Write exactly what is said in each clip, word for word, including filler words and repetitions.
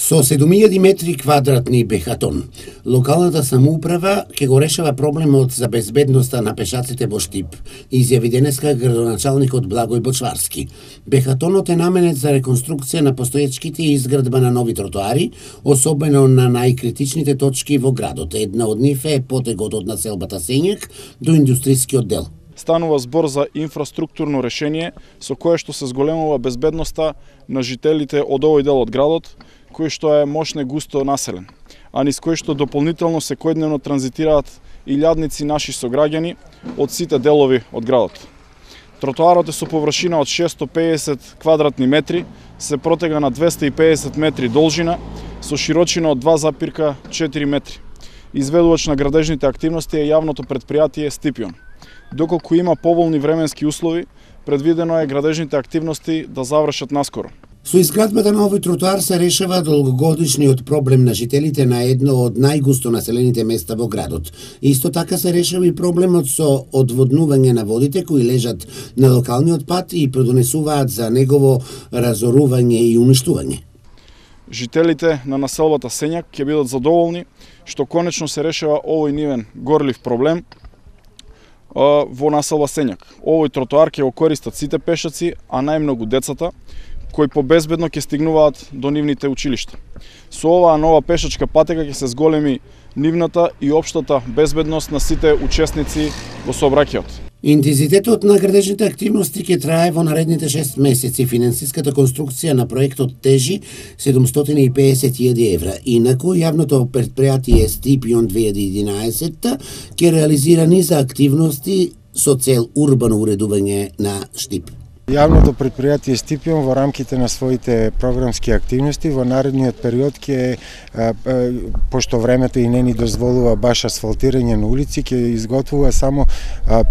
Со седум илјади метри квадратни бехатон, локалната самоуправа ќе го решава проблемот за безбедноста на пешаците во Штип, изјави денеска градоначалникот Благој Бочварски. Бехатонот е наменет за реконструкција на постоечките и изградба на нови тротоари, особено на најкритичните точки во градот. Една од нив е потегот од населбата Сењак до индустријскиот дел. Станува збор за инфраструктурно решение со кое што се зголемува безбедноста на жителите од овој дел од градот, кој што е мощно густо населен, а низ кој што дополнително секојдневно транзитираат илјадници наши сограѓани од сите делови од градот. Тротоарот е со површина од шесто педесет квадратни метри, се протега на двесте и педесет метри должина, со широчина од два запирка четири метри. Изведувач на градежните активности е јавното претпријатие Стипион. Доколку има поволни временски услови, предвидено е градежните активности да завршат наскоро. Со изградбата на овој тротоар се решава долгогодишниот проблем на жителите на едно од најгусто населените места во градот. Исто така се решава и проблемот со одводнување на водите кои лежат на локалниот пат и предонесуваат за негово разорување и уништување. Жителите на населбата Сењак ќе бидат задоволни што конечно се решава овој нивен горлив проблем во населба Сењак. Овој тротоар ќе го користат сите пешаци, а најмногу децата, кои побезбедно ќе стигнуваат до нивните училишта. Со оваа нова пешачка патека ќе се зголеми нивната и општата безбедност на сите учесници во сообраќајот. Интензитетот на градежните активности ќе трае во наредните шест месеци. Финансиската конструкција на проектот тежи седумстотини и педесет илјади евра. Инаку, јавното претпријатие Стипион две илјади и единаесет ќе реализира низа активности со цел урбано уредување на Штип. Јавното претпријатие Стипион во рамките на своите програмски активности во наредниот период ќе, пошто времето и не ни дозволува баш асфалтирање на улици, ќе изготвува само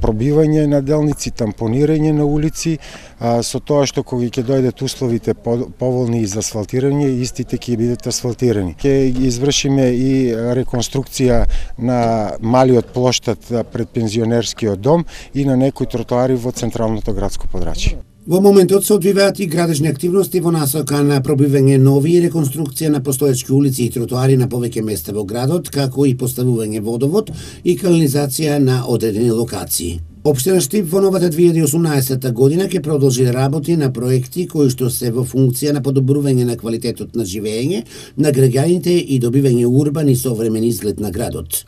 пробивање на делници, тампонирање на улици, со тоа што кога ќе дојдат условите поволни за асфалтирање, истите ќе бидат асфалтирани. Ќе извршиме и реконструкција на малиот плоштад пред пензионерскиот дом и на некои тротоари во централното градско подрачје. Во моментот се одвиваат и градежни активности во насока на пробивање нови и реконструкција на постоечки улици и тротоари на повеќе места во градот, како и поставување водовод и канализација на одредени локации. Општина Штип во новата две илјади и осумнаесета година ќе продолжи да работи на проекти кои што се во функција на подобрување на квалитетот на живење на граѓаните и добивање урбан и современ изглед на градот.